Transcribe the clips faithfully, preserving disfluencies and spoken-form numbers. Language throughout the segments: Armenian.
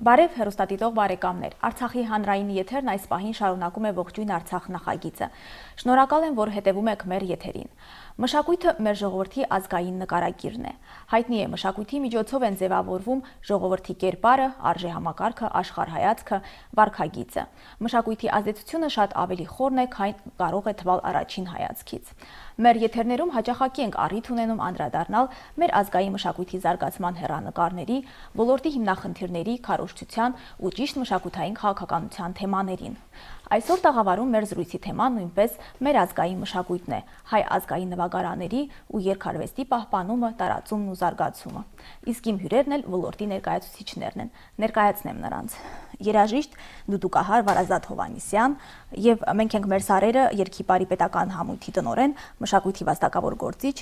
Բարև հեռուստադիտող բարեկամներ, Արցախի հանրային եթերն այս պահին շարունակում է ողջույն Արցախ նախագիծը։ Շնորհակալ եմ, որ հետևում եք մեր եթերին։ Մշակույթը մեր ժողովրդի ազգային նկարագիրն է։ Հայտնի է, մշակույթի միջոցով են ձևավորվում ժողովրդի կերպարը, արժեհամակարգը, աշխարհայացքը, վարքագիծը։ Մշակույթի ազդեցությունը շատ ավելի խորն է, քան կարող է թվալ առաջին հայացքից։ Մեր եթերներում հաճախակի ենք առիթ ունենում անդրադառնալ մեր ազգային մշակույթի զարգացման հեռանկարների, ոլորտի հիմնախնդիրների, քարոզչության ու ճիշտ մշակութային քաղաքականության թեմաներին։ Այսօր տաղավարում մեր զրույցի թեման նույնպես մեր ազգային մշակույթն է, հայ ազգային նվագարանների ու երգարվեստի պահպանումը, տարածումն ու զարգացումը։ Իսկ իմ հյուրերն էլ ոլորտի ներկայացուցիչներն են։ Ներկայացնեմ նրանց. երաժիշտ դուդուկահար Վարազդատ Հովհաննիսյան եւ մենք ենք մեր սարերը երգի բարի պետական համույթի տնօրեն, մշակույթի վաստակավոր գործիչ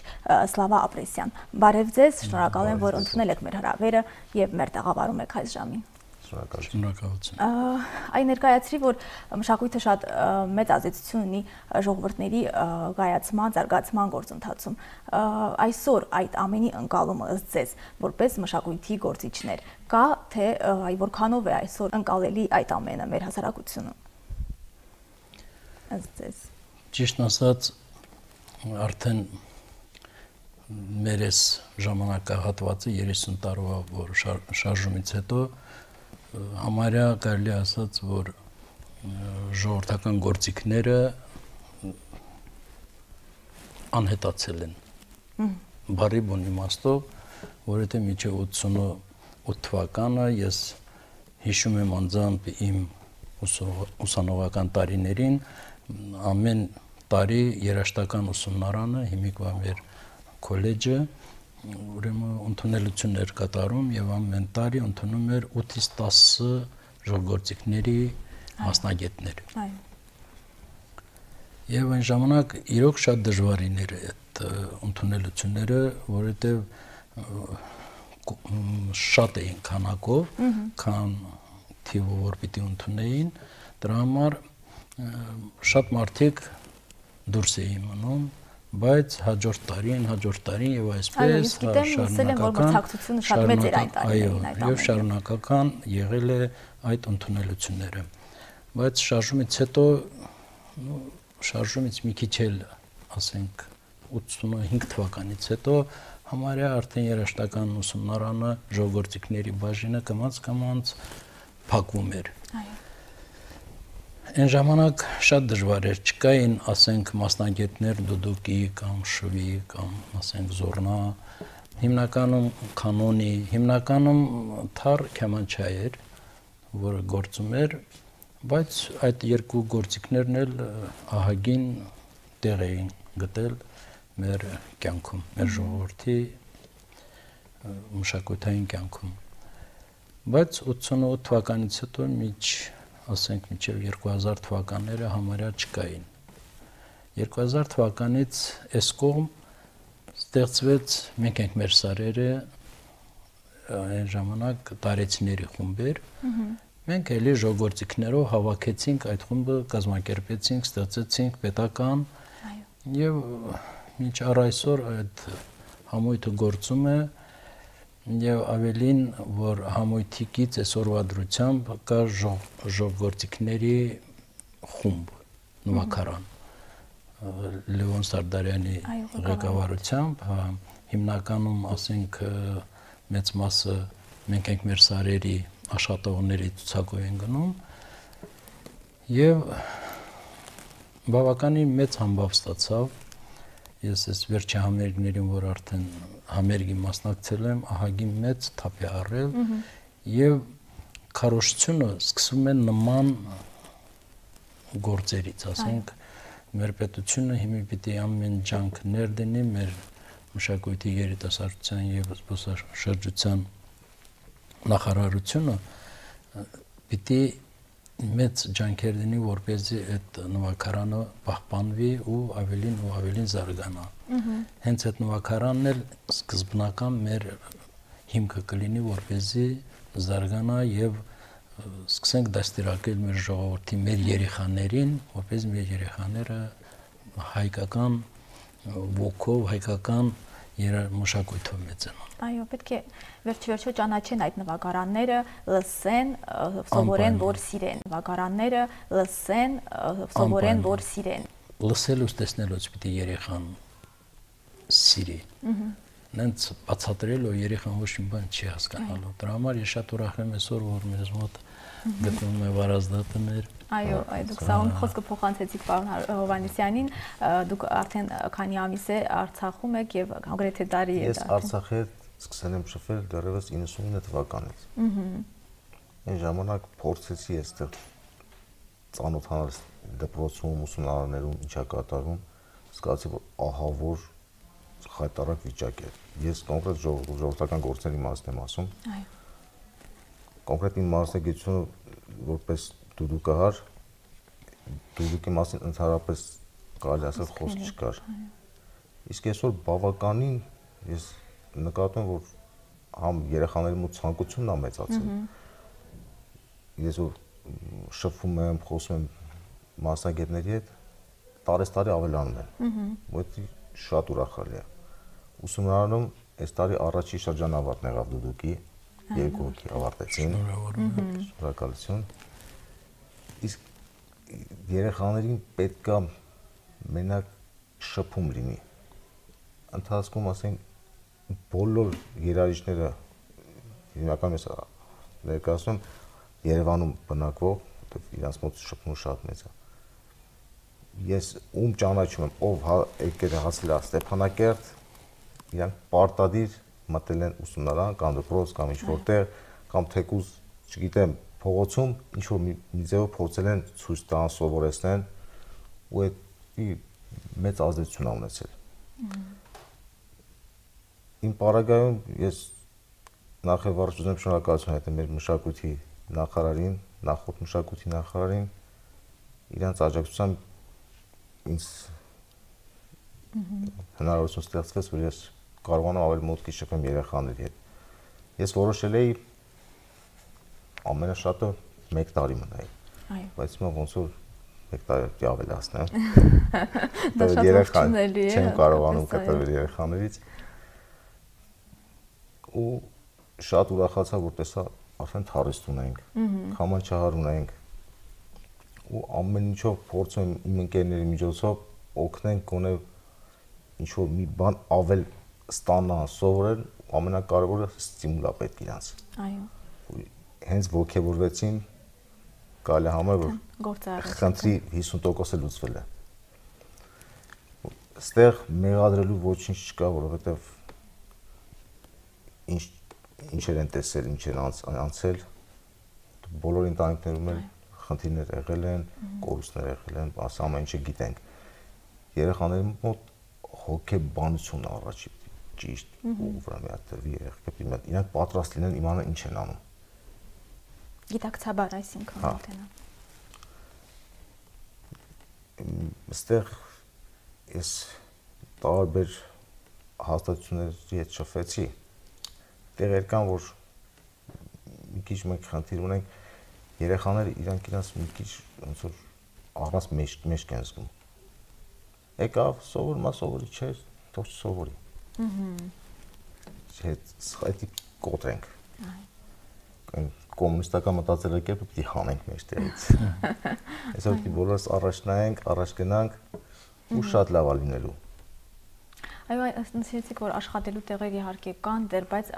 Սլավա Ապրեսյան։ Բարև ձեզ, շնորհակալ եմ, որ ընդունել եք մեր հրավերը եւ մեր տաղավարում եք այս ժամին։ Շնորհակալություն։ Այն ներկայացրի, որ մշակույթը շատ մեծ ազդեցություն ունի ժողովուրդների գայացման, զարգացման գործընթացում։ Այսօր այդ ամենի ընկալումը ըստ ձեզ, որպես մշակույթի գործիչներ, կա թե որքանով է այսօր ընկալելի այդ ամենը մեր հասարակությունում։ Ըստ ձեզ։ Ճիշտ ասած, արդեն մեր այս ժամանակահատվածը երեսուն տարվա որ շարժումից հետո համարյա կարելի ասած, որ ժողովրդական գործիքները անհետացել են։ Բարի բուն իմաստով, որովհետև մինչև ութսունութ թվականը ես հիշում եմ անձամբ իմ ուսանողական տարիներին, ամեն տարի երաժշտական ուսումնարանը, հիմիկվա մեր քոլեջը, ուրեմն ընդունելություններ կատարում եւ ամեն տարի ընդունում էր ութից տասը ժողովրդիկների մասնագետներ։ Եվ այն ժամանակ իրոք շատ դժվարին էր այդ ընդունելությունները, որովհետեւ շատ էին քանակով, քան թիվով որ պիտի ընդունեին, դրա համար շատ մարդիկ դուրս էին մնում, բայց հաջորդ տարին, հաջորդ տարին եւ այսպես շարունակական եղել է այդ ընդունելությունները։ Բայց շարժումից հետո, շարժումից մի քիչ էլ, ասենք, ութսունհինգ թվականից հետո համարյա արդեն երաժշտական ուսումնարանը, ժողովրդիկների բաժինը կամաց-կամաց փակվում էր։ Այն ժամանակ շատ դժվար էր, չկային, ասենք, մասնագետներ դուդուկի կամ շվի կամ, ասենք, զոռնա, հիմնականում կանոնի, հիմնականում թար քեմանչա էր, որը գործում էր, բայց այդ երկու գործիքներն էլ ահագին տեղ էին գտել մեր կյանքում, մեր ժողովրդի մշակութային կյանքում։ Բայց ութսունութ թվականից հետո միջ ասենք մինչև երկու հազար թվականները համարյա չկային։ երկու հազար թվականից այս կողմ ստեղծվեց, մենք ենք մեր սարերը, այն ժամանակ տարեցիների խումբեր, մենք էլի ժողովրդիկներով հավաքեցինք այդ խումբը, կազմակերպեցինք, ստեղծեցինք պետական եւ մինչ առ այսօր այդ համույթը գործում է եւ ավելին, որ համույթիկից այսօրվա դրությամբ կա ժողովրդիկների խումբ, նվագարան, Լևոն Սարդարյանի ղեկավարությամբ, հիմնականում, ասենք, մեծ մասը մենք ենք մեր սարերի աշխատողների ցուցակով են գնում եւ բավականին մեծ համբավ ստացավ։ Ես այս վերջի համերգներին, որ արդեն համերգի մասնակցել եմ, ահագին մեծ թափ է առել եւ քարոզչությունը սկսվում է նման գործերից, ասենք, մեր պետությունը հիմա պիտի ամեն ջանք ներդնի մեր մշակույթի երիտասարդության եւ զբոսաշրջության նախարարությունը պիտի մեծ ջանքեր դնի, որպեսզի այդ նվագարանը պահպանվի ու ավելին ու ավելին զարգանա։ Հենց այդ նվագարանն էլ սկզբնական մեր հիմքը կլինի, որպեսզի զարգանա եւ սկսենք դաստիարակել մեր ժողովրդի, մեր երեխաներին, որպեսզի մեր երեխաները հայկական ոգով, հայկական երամշակույթով մեծանան։ Այո, պետք է վերջ-վերջո ճանաչեն այդ նվագարանները, լսեն, սովորեն, որ սիրեն նվագարանները, լսեն, սովորեն, որ սիրեն։ Լսելուց տեսնելուց պիտի երեխան սիրի։ Նենց բացատրելով երեխան ոչ մի բան չի հասկանալու։ Դրա համար ես շատ ուրախ եմ այսօր, որ մեզ մոտ գտնվում է վարազդատը մեր։ Այո, դուք սաղում խոսքը փոխանցեցիք պարոն Հովհաննիսյանին, դուք արդեն քանի ամիս է Արցախում եք եւ կոնկրետ տարի է։ Ես Արցախի սկսել եմ շփվել դեռևս իննսունինը թվականից։ Այն ժամանակ փորձեցի այստեղ ծանոթանալ դպրոցում, ուսումնարաններում ինչա կատարվում, զգացի որ ահա որ խայտարակ վիճակ է։ Ես կոնկրետ ժողովրդական գործերի մասին եմ ասում։ Այո։ Կոնկրետ իմ մասնագիտությունը որպես դուդուկահար, դուդուկի մասին ընդհանրապես կարելի ասել խոսք չկար։ Իսկ այսօր բավականին ես նկատում եմ, որ համ երեխաների մոտ ցանկությունն է մեծացել։ Ես որ շփվում եմ, խոսում եմ մասնագետների հետ, տարեստարի ավելանում են։ Որտի շատ ուրախալի է։ Ուսումնարանում այս տարի առաջի շրջանավարտն եղավ դուդուկի, երկու հոգի ավարտեցին։ Շնորհակալություն։ Իսկ երեխաներին պետք է մենակ շփում լինի։ Ընթացքում ասենք բոլոր երաժիշտները հիմնականում ես ներկայացնում Երևանում բնակվող, որտեղ իրանց մոտ շփումը շատ մեծ է։ Ես ում ճանաչում եմ, ով եկել է հասել է Ստեփանակերտ, իրանք պարտադիր մտել են ուսումնարան կամ դպրոց կամ ինչ որտեղ կամ թեկուզ, չգիտեմ, փողոցում ինչ որ մի ձևով փորձել են ցույց տան, սովորեցնեն ու այդ մեծ ազդեցություն ունեցել։ Իմ պարագայում ես նախևառաջ ուզում եմ շնորհակալություն հայտնել մեր մշակույթի նախարարին, նախորդ մշակույթի նախարարին, իրանց աջակցությամբ ինձ հնարավորություն ստեղծվեց, որ ես կարողանամ ավելի մոտքի շփեմ երեխաների հետ։ Ես որոշել էի ամենաշատը մեկ տարի մնալ։ Այո։ Բայց հիմա ոնց որ մեկ տարի ավելացնեմ։ Դա շատ ողջունելի է։ Չեմ կարողանում կտրվել երեխաներից։ Ու շատ ուրախացա, որ տեսա արդեն թարիստ ունենք, քամանչահար ունենք։ Ու ամեն ինչով փորձում եմ իմ ընկերների միջոցով օգնենք գոնե ինչ որ մի բան ավել ստանան, սովորեն, ամենակարևորը ստիմուլա պետք իրանց։ Այո։ Հենց ոգևորվեցին, կարելի է համարել, որ խնդրի հիսուն տոկոս լուծվել է։ Այստեղ մեղադրելու ոչինչ չկա, որովհետև ինչ ինչեր են տեսել, ինչեր անցել, բոլոր ընտանիքներում էլ խնդիրներ եղել են, կորուստներ եղել են, ասա ամեն ինչը գիտենք։ Երեխաների մոտ հոգեբանություն առաջի ճիշտ ու վրա մի հատ երեխա իրանք պատրաստ լինեն իմանան ինչ են անում։ Գիտակցաբար այսինքն մոտենա։ Այստեղ ես տարբեր հաստատությունների հետ շփվեցի։ Տեղեր կան, որ մի քիչ մենք խնդիր ունենք, երեխաները իրանք իրանց մի քիչ ոնց որ առանց մեջք են զգում։ Եկավ, սովորումա սովորի չէր, թող չսովորի։ Հետ կոտրենք։ Կոմունիստական մտածելակերպը պիտի հանենք մեջտեղից։ Այսօր պիտի բոլորս առաջ նայենք, առաջ գնանք ու շատ լավ է լինելու։ Այո, ասացիք, որ աշխատելու տեղեր իհարկե կան, դեռ բայց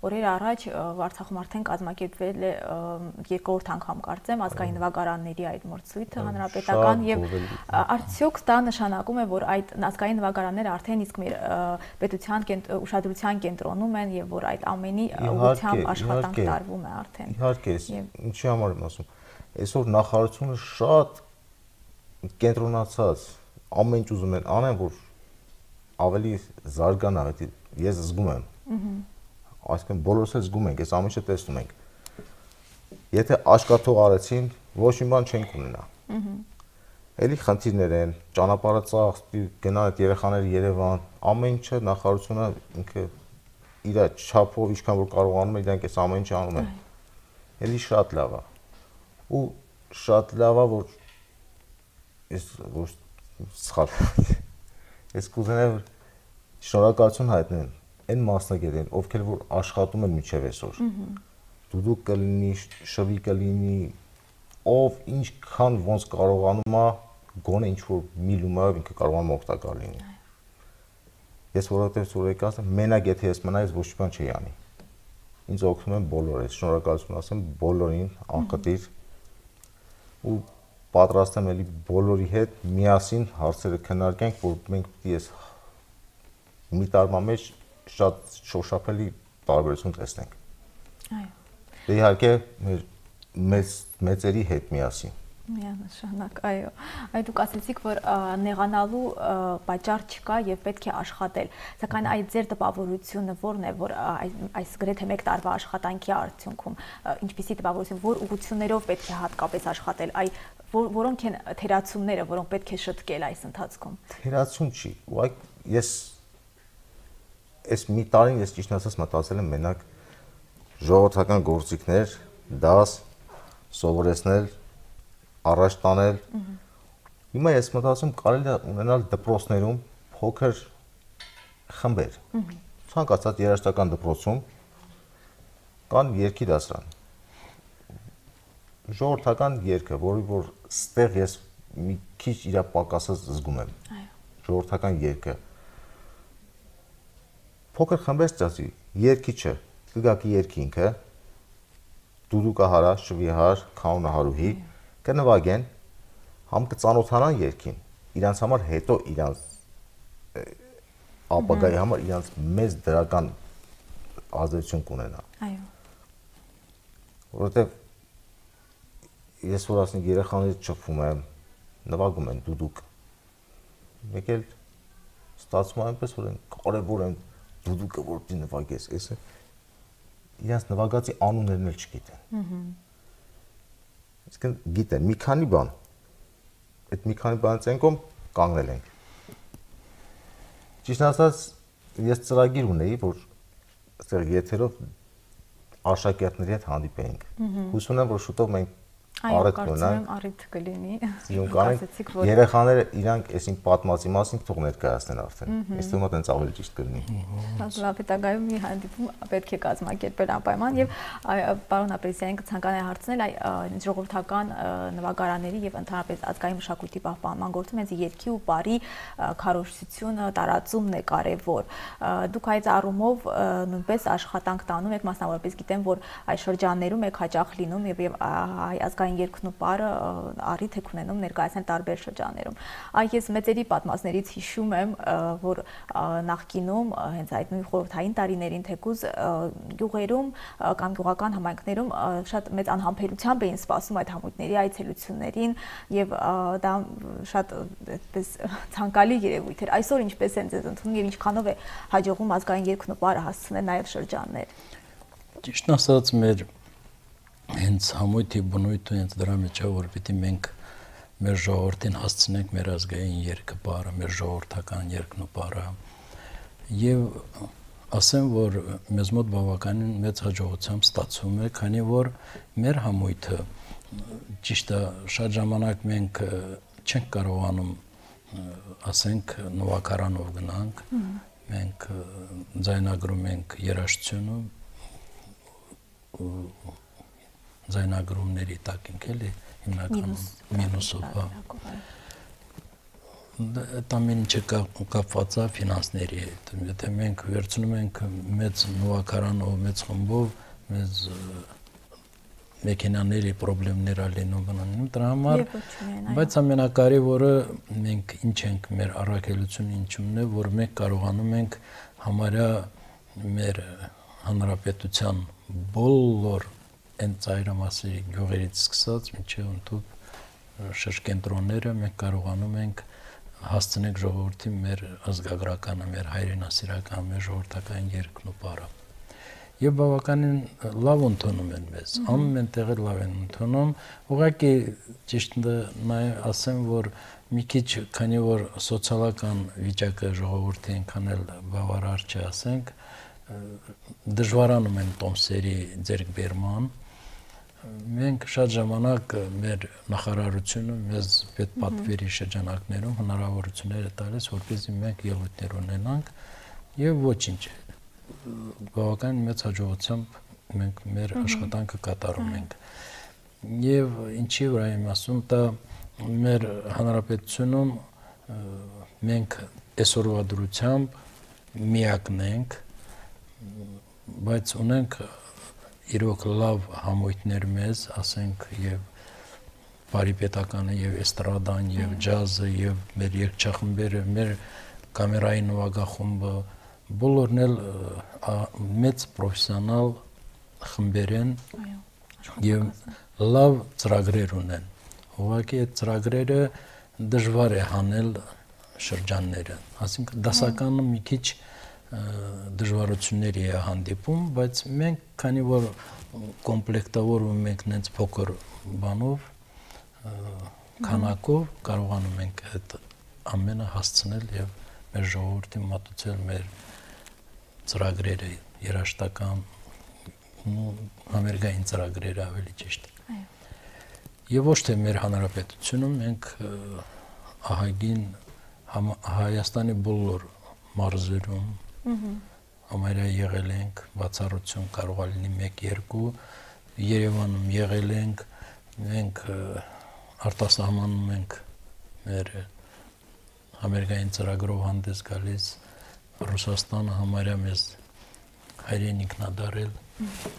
օրեր առաջ Արցախում արդեն կազմակերպվել է երկրորդ անգամ կարծեմ ազգային նվագարանների այդ մրցույթը հանրապետական եւ արդյոք դա նշանակում է, որ այդ ազգային նվագարանները արդեն իսկ մեր պետության ուշադրության կենտրոնում են եւ որ այդ ամենի ուղղությամբ աշխատանք տարվում է արդեն։ Իհարկե, ինչի համար եմ ասում, այսօր նախարարությունը շատ կենտրոնացած ամեն ինչ ուզում են անեն, որ ավելի զարգանա, ես զգում եմ։ Այսինքն բոլորս էլ զգում ենք, այս ամեն ինչը տեսնում ենք։ Եթե աշկատող արեցին, ոչ մի բան չենք ունենա։ Էլի խնդիրներ են, ճանապարհը ծախս, գնան այդ երեխաները Երևան, ամեն ինչը նախարարությունը ինքը իր չափով ինչքան որ կարողանում է, իրանք այս ամեն ինչը անում են։ Էլի շատ լավ է։ Ու շատ լավ է, որ ես ոչ սխալ Ես կուզենայի որ շնորհակալություն հայտնեն այն մասնագետին, ովքեր որ աշխատում են մինչև այսօր։ Դուդուկ կլինի, շվի կլինի, ով ինչքան ոնց կարողանում է, գոնե ինչ որ միլումով ինքը կարողանում օգտակար լինի։ Ես որովհետև սուրեկի ասեմ, մենակ եթե ես մնայ, ես ոչ մի բան չի անի։ Ինձ օգնում են բոլորը, շնորհակալություն ասեմ բոլորին, անխտիր ու պատրաստ եմ էլի բոլորի հետ միասին հարցերը քննարկենք, որ մենք պիտի ես մի տարվա մեջ շատ շոշափելի տարբերություն տեսնենք։ Այո։ Դե իհարկե մեր մեծ մեծերի հետ միասին։ Միանշանակ, այո։ Այ դուք ասացիք, որ նեղանալու պատճառ չկա եւ պետք է աշխատել։ Սակայն այդ ձեր տպավորությունը ո՞րն է, որ այս գրեթե մեկ տարվա աշխատանքի արդյունքում ինչպիսի տպավորություն, որ ուղղություններով պետք է հատկապես աշխատել, այ որոնք են թերացումները, որոնք պետք է շտկել այս ընթացքում։ Թերացում չի։ Ուղղակի ես այս մի տարին ես ճիշտ ասած մտածել եմ մենակ ժողովրդական գործիքներ, դաս, սովորեցնել, առաջ տանել։ Հիմա ես մտածում կարելի է ունենալ դպրոցներում փոքր խմբեր։ Ցանկացած երաժշտական դպրոցում կան երգի դասարան։ Ժողովրդական երգը, որի որ ստեղ ես մի քիչ իրա պակասած զգում եմ։ Ժողովրդական երգը։ Փոքր խմբեր ստացի, երգիչը, կգակի երգի ինքը, դուդուկա հարա, շվի հար, քաունա հարուհի, կնվագեն, համ կծանոթանան երգին, իրանց համար հետո իրանց ապագայի համար իրանց մեծ դրական ազդեցություն կունենա։ Այո։ Որովհետև ես որ ասենք երեխաներից չփում եմ, նվագում են դուդուկ։ Մեկ էլ ստացվում է այնպես, որ կարևոր են դուդուկը որ դի նվագես, էսը իրանց նվագածի անուններն էլ չգիտեն։ Իսկ գիտեն մի քանի բան։ Այդ մի քանի բանից են կողմ կանգնել ենք։ Ճիշտ ասած, ես ծրագիր ունեի, որ այստեղ եթերով աշակերտների հետ հանդիպեինք։ Հույս ունեմ, որ շուտով մենք Այո, կարծում եմ առիթ կլինի։ Սիրուն կանենք, երեխաները իրանք այսին պատմածի մասին թող ներկայացնեն արդեն։ Ես թվում է տենց ավելի ճիշտ կլինի։ Լավ, հետագայում մի հանդիպում պետք է կազմակերպել անպայման եւ պարոն Ապրեսյանին կցանկանայի հարցնել այ ժողովրդական նվագարանների եւ ընդհանրապես ազգային մշակույթի պահպանման գործում հենց երգի ու բարի քարոզությունը, տարածումն է կարեւոր։ Դուք այդ առումով նույնպես աշխատանք տանում եք, մասնավորապես գիտեմ, որ այս շրջաններում եք հաճախ լինում եւ հայ ազգային երգն ու պարը առիթ եք ունենում ներկայացնել տարբեր շրջաններում։ Այ ես մեծերի պատմածներից հիշում եմ, որ նախկինում հենց այդ նույն խորհրդային տարիներին թեկուզ գյուղերում կամ գյուղական համայնքներում շատ մեծ անհամբերությամբ էին սպասում այդ համույթների այցելություններին եւ դա շատ այդպես ցանկալի երևույթ էր։ Այսօր ինչպես են ձեզ ընդունում եւ ինչքանով է հաջողում ազգային երգն ու պարը հասցնել նաեւ շրջաններ։ Ճիշտ ասած, մեր հենց համույթի բնույթը հենց դրա մեջ է, որ պիտի մենք մեր ժողովրդին հասցնենք մեր ազգային երգը պարը, մեր ժողովրդական երգն ու պարը։ Եվ ասեմ, որ մեզ մոտ բավականին մեծ հաջողությամբ ստացվում է, քանի որ մեր համույթը ճիշտ է, շատ ժամանակ մենք չենք կարողանում, ասենք, նվագարանով գնանք, մենք ձայնագրում ենք երաժշտությունը, ձայնագրումների տակ ենք էլի հիմնականում մինուսով, դա մին չէ կապված է ֆինանսների հետ, եթե մենք վերցնում ենք մեծ նվագարանով, մեծ խմբով, մեծ մեքենաների պրոբլեմներ ալինում բնանում դրա համար, բայց ամենակարևորը մենք ինչ ենք մեր առաքելությունը ինչումն է, որ մենք կարողանում ենք համարյա մեր հանրապետության բոլոր այն ծայրամասերի գյուղերից սկսած մինչև ընդհանուր շրջենտրոնները մենք կարողանում ենք հասցնել ժողովրդի մեր ազգագրականը, մեր հայրենասիրական, մեր ժողովրդական երգն ու պարը։ Եվ բավականին լավ ընդունում են մեզ, ամեն տեղը լավ են ընդունում, ուղղակի ճիշտ ասեմ, որ մի քիչ, քանի որ սոցիալական վիճակը ժողովրդի այնքան էլ բավարար չի, ասենք, դժվարանում են տոմսերի ձեռքբերման, մենք շատ ժամանակ մեր նախարարությունը մեզ պետպատվերի շրջանակներում հնարավորություններ է տալիս, որպեսզի մենք ելույթներ ունենանք, եւ ոչինչ բավական մեծ հաջողությամբ մենք մեր աշխատանքը կատարում ենք եւ ինչի վրա եմ ասում դա մեր հանրապետությունում մենք այսօրվա դրությամբ միակն ենք բայց ունենք իրոք լավ համույթներ մեզ ասենք եւ բարիպետականը եւ էստրադան եւ ջազը եւ մեր երգչախմբերը մեր կամերային նվագախումբը բոլորն էլ մեծ պրոֆեսիոնալ խմբեր են եւ լավ ծրագրեր ունեն ուղղակի այդ ծրագրերը դժվար է հանել շրջանները ասինքն դասականը մի քիչ դժվարությունների է հանդիպում բայց մենք քանի որ կոմպլեկտավորում ենք նենց փոքր բանով քանակով կարողանում ենք այդ ամենը հասցնել եւ մեր ժողովրդին մատուցել մեր ծրագրերը երաժշտական ու համերգային ծրագրերը ավելի ճիշտ այո եւ ոչ թե մեր հանրապետությունում մենք ահագին Հայաստանի բոլոր մարզերում համարյա եղել ենք բացառություն կարող է լինի մեկ երկու Երևանում եղել ենք մենք արտասահմանում ենք մեր համերգային ծրագրով հանդես գալիս Ռուսաստանը համարյա մեզ հայրենիքն է դարել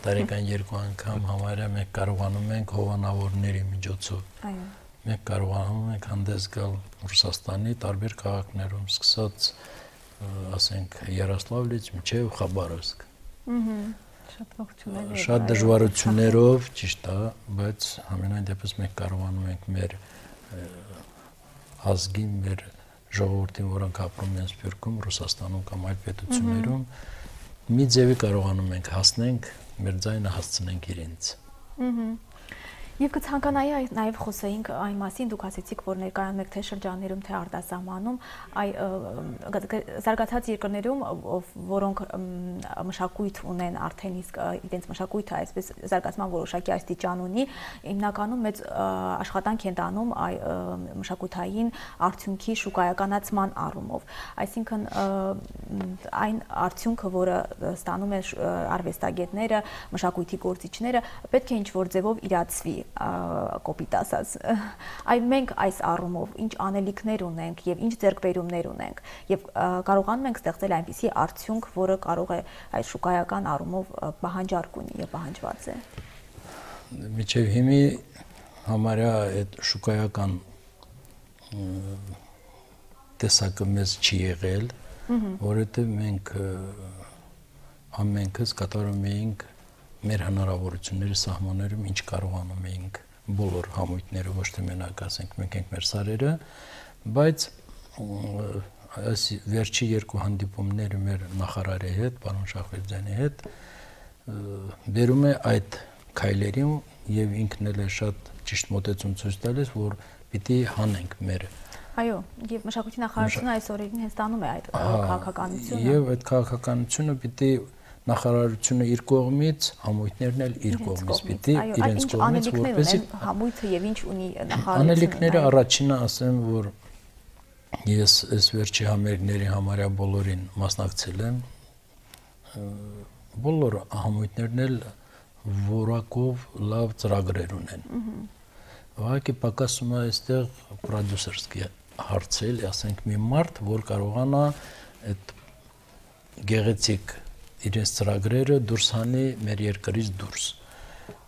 տարեկան երկու անգամ համարյա մենք կարողանում ենք հովանավորների միջոցով այո մենք կարողանում ենք հանդես գալ Ռուսաստանի տարբեր քաղաքներում սկսած ասենք Յարոսլավլից մինչև Խաբարովսկ շատ ողջունելի շատ դժվարություններով ճիշտ է բայց ամենայն դեպս մենք կարողանում ենք մեր ազգին մեր ժողովրդին որոնք ապրում են Սփյուռքում Ռուսաստանում կամ այլ պետություններում մի ձևի կարողանում ենք հասնենք մեր ձայնը հասցնենք իրենց Եվ կցանկանայի նաև խոսեինք այն մասին, դուք ասեցիք, որ ներկայանում եք թե շրջաններում, թե արտասահմանում, այ զարգացած երկրներում, որոնք մշակույթ ունեն արդեն իսկ իրենց մշակույթը այսպես զարգացման որոշակի աստիճան ունի, հիմնականում մեծ աշխատանք են տանում այ մշակութային արդյունքի շուկայականացման առումով։ Այսինքն այն արդյունքը, որը ստանում են արվեստագետները, մշակույթի գործիչները, պետք է ինչ-որ ձևով իրացվի կոպիտ ասած այ մենք այս առումով ինչ անելիքներ ունենք եւ ինչ ձեռքբերումներ ունենք եւ կարողանում ենք ստեղծել այնպիսի արդյունք, որը կարող է այս շուկայական առումով պահանջարկ ունի եւ պահանջված է Միջև հիմի համարյա այդ շուկայական տեսակը մեզ չի եղել որովհետեւ մենք ամենքս կատարում էինք մեր հնարավորությունների սահմաններում ինչ կարողանում էինք բոլոր համույթները ոչ թե մենակ ասենք մենք ենք մեր սարերը բայց այս վերջի երկու հանդիպումները մեր նախարարի հետ պարոն Շախվերդյանի հետ վերում է այդ քայլերին եւ ինքն էլ է շատ ճիշտ մոտեցում ցույց տալիս որ պիտի հանենք մեր Այո, եւ մշակույթի նախարարությունը այս օրերին հստանում է այդ քաղաքականությունը եւ այդ քաղաքականությունը պիտի նախարարությունը իր կողմից, համույթներն էլ իր կողմից պիտի իրենց կողմից որպեսզի համույթը եւ ինչ ունի նախարարությունը Անելիքները առաջինը ասեմ, որ ես այս վերջի համերգների համարյա բոլորին մասնակցել եմ բոլոր համույթներն էլ որակով լավ ծրագրեր ունեն Ուղղակի պակասում է այստեղ պրոդյուսերսկի հարցել, ասենք մի մարդ, որ կարողանա այդ գեղեցիկ իրենց ծրագրերը դուրս հանի մեր երկրից դուրս։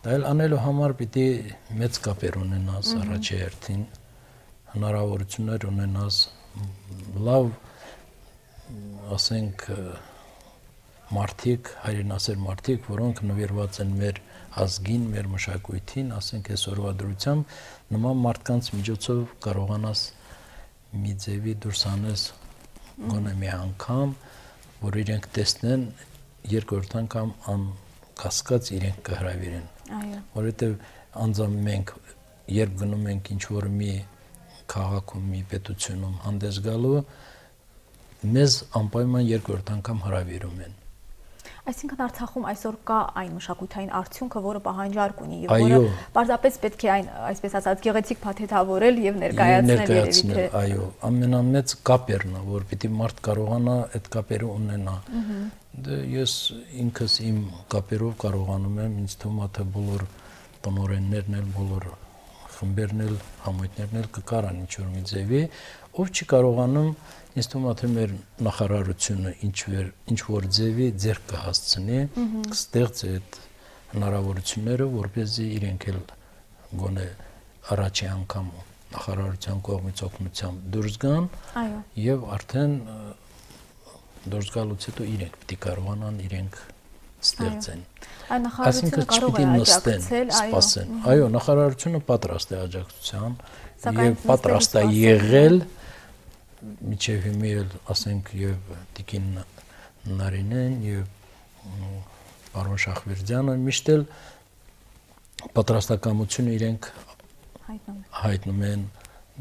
Դա էլ անելու համար պիտի մեծ կապեր ունենաս առաջի հերթին, հնարավորություններ ունենաս, լավ, ասենք, մարդիկ, հայրենասեր մարդիկ, որոնք նվիրված են մեր ազգին, մեր մշակույթին, ասենք այսօրվա դրությամբ, նման մարդկանց միջոցով կարողանաս մի ձևի դուրս անես գոնե մի անգամ, որ իրենք տեսնեն երկրորդ անգամ անկասկած իրենք կհրավիրեն։ Այո։ Որովհետև անձամբ մենք երբ գնում ենք ինչ-որ մի քաղաքում, մի պետությունում հանդես գալու, մեզ անպայման երկրորդ անգամ հրավիրում են։ Այսինքն Արցախում այսօր կա այն մշակութային արդյունքը, որը պահանջարկ ունի եւ որը պարզապես պետք է այն, այսպես ասած, գեղեցիկ փաթեթավորել եւ ներկայացնել երևի թե։ Այո, ամենամեծ կապերն է, որ պիտի մարդ կարողանա այդ կապերը ունենա։ Դե ես ինքս իմ կապերով կարողանում եմ, ինձ թվում է թե բոլոր տնօրեններն էլ, բոլոր խմբերն էլ, համույթներն էլ կկարան ինչ-որ մի ձևի, ով չի կարողանում, ինձ թվում է թե մեր նախարարությունը ինչ-որ ձևի ձեռք կհասցնի, կստեղծի այդ հնարավորությունները, որպեսզի իրենք էլ գոնե առաջի անգամ նախարարության կողմից օգնությամբ դուրս գան եւ արդեն դուրս գալուց հետո իրենք պիտի կարողանան իրենք ստեղծեն։ Այո, նախարարությունը կարող է աջակցել, սպասեն։ Այո, նախարարությունը պատրաստ է աջակցության եւ պատրաստ է եղել միջև հիմա էլ ասենք եւ Տիկին Նարինեն եւ պարոն Շախվերդյանը միշտ էլ պատրաստակամությունը իրենք հայտնում են,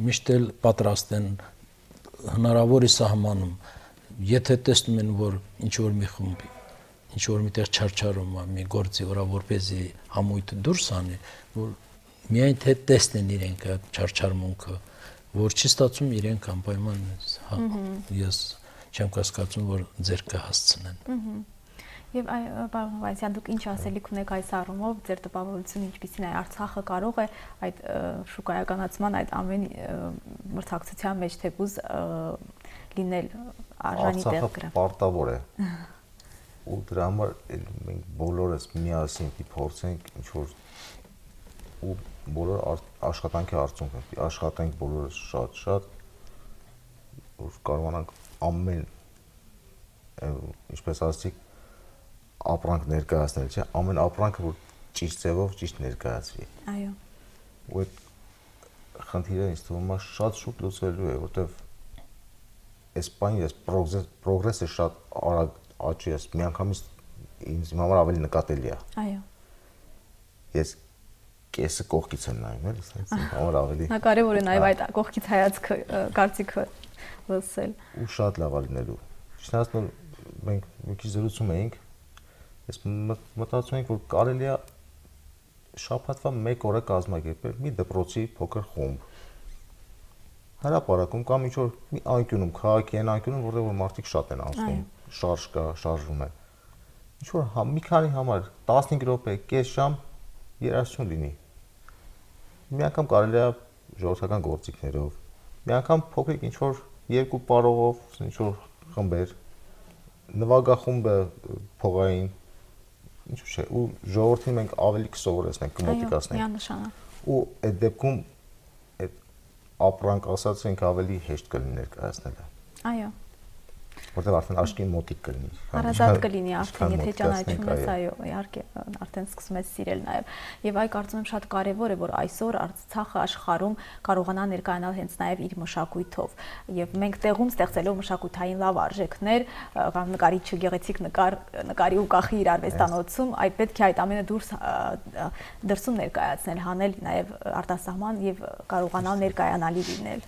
միշտ էլ պատրաստ են հնարավորի սահմանում, եթե տեսնում են, որ ինչ-որ մի խումբ, ինչ-որ միտեղ չարչարում է մի գործի վրա, որպեսզի համույթը դուրս անի, որ միայն թե տեսնեն իրենք այդ չարչարմունքը, որ չի ստացում իրենք անպայման ես չեմ կասկածում, որ ձեռք կհասցնեն։ Եվ պարոն Հովհաննիսյան, դուք ինչ ասելիք ունեք այս առումով, ձեր տպավորությունը ինչպիսին է, Արցախը կարող է այդ շուկայականացման, այդ ամեն մրցակցության մեջ թեկուզ լինել արժանի տեղ գրა։ Արցախը պարտավոր է։ Ու դրա համար մենք բոլորս միասին պիտի փորձենք ինչ-որ ու բոլոր աշխատանքի արդյունքը, պիտի աշխատենք բոլորս շատ-շատ, որ կարողանանք ամեն, ինչպես ասացիք, ապրանք ներկայացնել, չէ, ամեն ապրանքը որ ճիշտ ձևով ճիշտ ներկայացվի։ Այո։ Ու այդ խնդիրը ինձ թվում է շատ շուտ լուծվելու է, որտեվ այս բանը ես պրոգրեսը շատ արագ աճի է, միանգամից ինձ համար ավելի նկատելի է։ Այո։ Ես կեսը կողքից եմ նայում, էլի, ասես ինձ համար ավելի։ Նա կարևոր է նաև այդ կողքից հայացքը, կարծիքը լսել։ Ու շատ լավ է լինելու։ Չնայած մենք մի քիչ զրուցում էինք, ես մտածում ենք, որ կարելի է շաբաթվա մեկ օրը կազմակերպել մի դպրոցի փոքր խումբ։ Հրապարակում կամ ինչ-որ մի անկյունում, քաղաքի այն անկյունում, որտեղ որ մարդիկ շատ են անցնում, շարժ կա, շարժվում է։ Ինչ-որ մի քանի համար տասնհինգ րոպե, կես ժամ երաժշտություն լինի։ Մի անգամ կարելի է ժողովրդական գործիքներով, մի անգամ փոքրիկ ինչ-որ երկու պարողով, ինչ-որ խմբեր, նվագախումբը փողային, ինչ չէ, ու ժողովրդին մենք ավելի կսովորեցնենք, կմոտիկացնենք։ Այո, միանշանակ։ Ու այդ դեպքում այդ ապրանք ասածենք ավելի հեշտ կլինի ներկայացնելը։ Այո։ Որտեղ արդեն աշկին մոտիկ կլինի։ Հարազատ կլինի արդեն, եթե ճանաչում ես, այո, իհարկե, արդեն սկսում ես սիրել նաև։ Եվ այ կարծում եմ շատ կարևոր է, որ այսօր Արցախը աշխարհում կարողանա ներկայանալ հենց նաև իր մշակույթով։ Եւ մենք տեղում ստեղծելով մշակութային լավ արժեքներ, կամ նկարիչը գեղեցիկ նկար, նկարի ու կախի իր արվեստանոցում, այդ պետք է այդ ամենը դուրս դրսում ներկայացնել, հանել նաև արտասահման եւ կարողանալ ներկայանալի լինել։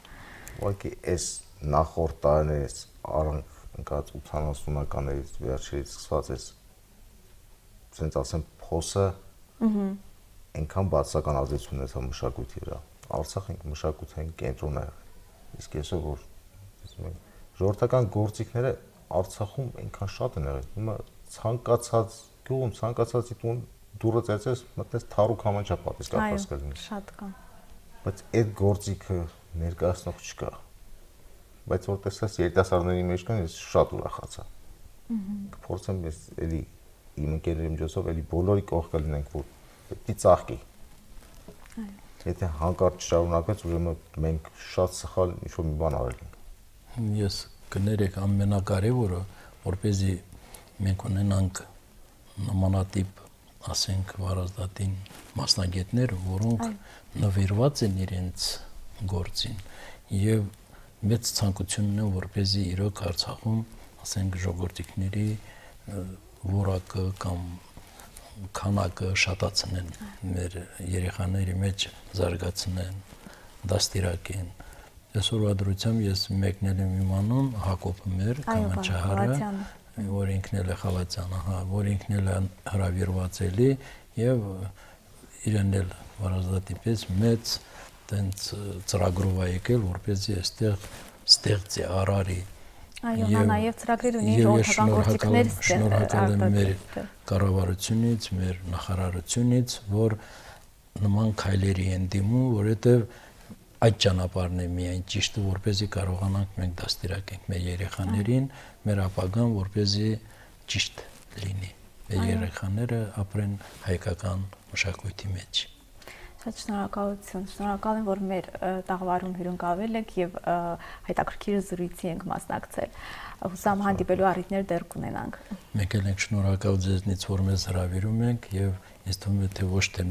Ուղղակի այս նախորդ տարիներից առանց ընկած ութանասունականներից վերջերից սկսված էս ցենց ասեմ փոսը այնքան բացական ազդեցություն ունեցավ մշակույթի վրա։ Արցախը մշակութային կենտրոն է։ Իսկ այսօր որ ժողովրդական գործիքները Արցախում այնքան շատ են եղել։ Հիմա ցանկացած գյուղում ցանկացածի տուն դուրը ծեծես, մտնես թարուկ համանջա պատից կապված կլինի։ Շատ կան։ Բայց այդ գործիքը ներկայացնող չկա։ Բայց որ տեսած երիտասարդների մեջ կան, ես շատ ուրախացա։ Կփորձեմ ես էլի իմ ընկերների միջոցով էլի բոլորի կողքը լինենք, որ պետք է ծաղկի։ Եթե հանկարծ շարունակվեց, ուրեմն մենք շատ սխալ ինչ-որ մի բան արել ենք։ Ես կներեք ամենակարևորը, որպեսզի մենք ունենանք նմանատիպ, ասենք, վարազդատին մասնագետներ, որոնք նվիրված են իրենց գործին եւ մեծ ցանկությունն է, որպեսզի իրոք Արցախում, ասենք, ժողովրդիկների որակը կամ քանակը շատացնեն, մեր երեխաների մեջ զարգացնեն, դաստիարակեն։ Այսօրվա դրությամբ ես մեկնել եմ իմանում Հակոբը մեր Կամանչահարը, որ ինքն էլ է Խալացյանը, հա, որ ինքն էլ է հրավիրված էլի եւ իրեն էլ վարազդատի պես մեծ տենց ծրագրով է եկել, որպեսզի այստեղ ստեղծի արարի։ Այո, նա նաև ծրագրեր ունի ժողովրդական գործիքներ ստեղծել։ Շնորհակալ եմ մեր կառավարությունից, մեր նախարարությունից, որ նման քայլերի են դիմում, որովհետև այդ ճանապարհն է միայն ճիշտը, որպեսզի կարողանանք մենք դաստիարակենք մեր երեխաներին, մեր ապագան, որպեսզի ճիշտ լինի։ Մեր երեխաները ապրեն հայկական մշակույթի մեջ։ Շատ շնորհակալություն։ Շնորհակալ եմ, որ մեր տաղավարում հյուրընկալվել եք եւ հետաքրքիր զրույցի ենք մասնակցել։ Հուսամ հանդիպելու առիթներ դեռ կունենանք։ Մենք էլ ենք շնորհակալ ձեզնից, որ մեզ հրավիրում եք եւ ինձ թվում է թե ոչ թե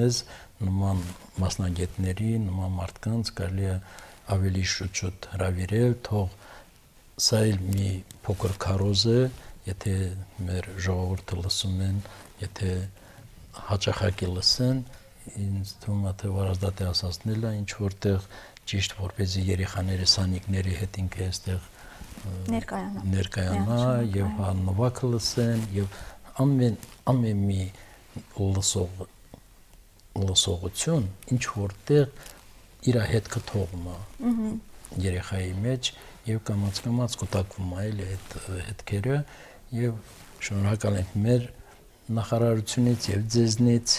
մեզ նման մասնագետների, նման մարդկանց կարելի է ավելի շուտ հրավիրել, թող սա էլ մի փոքր քարոզ է, եթե մեր ժողովուրդը լսում են, եթե հաճախակի լսեն, ինձ թվում է թե վարազդատի ասածնելը ինչ որտեղ ճիշտ որպեսզի երեխաների սանիկների հետ ինքը այստեղ ներկայանա ներկայանա եւ հա նվագը լսեն եւ ամեն ամեն մի լսող լսողություն ինչ որտեղ իր հետ կթողում է երեխայի մեջ եւ կամաց կամաց կուտակվում է այլ այդ հետքերը եւ շնորհակալ ենք մեր նախարարությունից եւ ձեզնից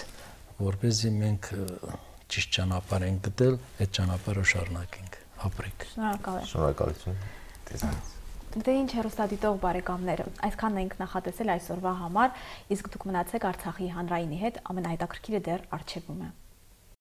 որպեսզի մենք ճիշտ ճանապարհ ենք գտել, այդ ճանապարհը շարունակենք, ապրենք։ Շնորհակալ եմ։ Շնորհակալություն ձեզանից։ Դե ինչ հեռուստադիտող բարեկամներ, այսքանն ենք նախատեսել այսօրվա համար, իսկ դուք մնացեք Արցախի հանրայինի հետ, ամենահետաքրքիրը դեռ առջևում է։